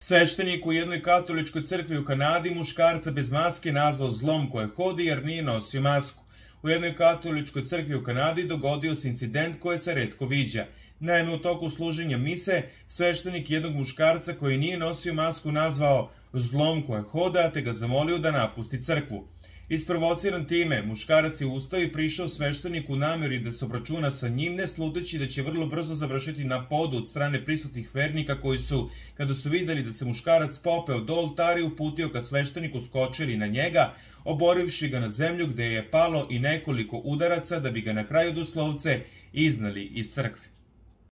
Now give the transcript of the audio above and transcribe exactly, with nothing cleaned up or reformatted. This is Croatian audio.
Sveštenik u jednoj katoličkoj crkvi u Kanadi muškarca bez maske nazvao zlom koje hodi jer nije nosio masku. U jednoj katoličkoj crkvi u Kanadi dogodio se incident koji se retko viđa. Naime, u toku služenja mise, sveštenik jednog muškarca koji nije nosio masku nazvao zlom koje hoda, te ga zamolio da napusti crkvu. Isprovociran time, muškarac je ustao i prišao svešteniku u nameri da se obračuna sa njim, ne sluteći da će vrlo brzo završiti na podu od strane prisutnih vernika koji su, kada su videli da se muškarac popeo do oltara i uputio ka svešteniku, skočili na njega, oborivši ga na zemlju gde je palo i nekoliko udaraca da bi ga na kraju doslovce iznali iz crkve.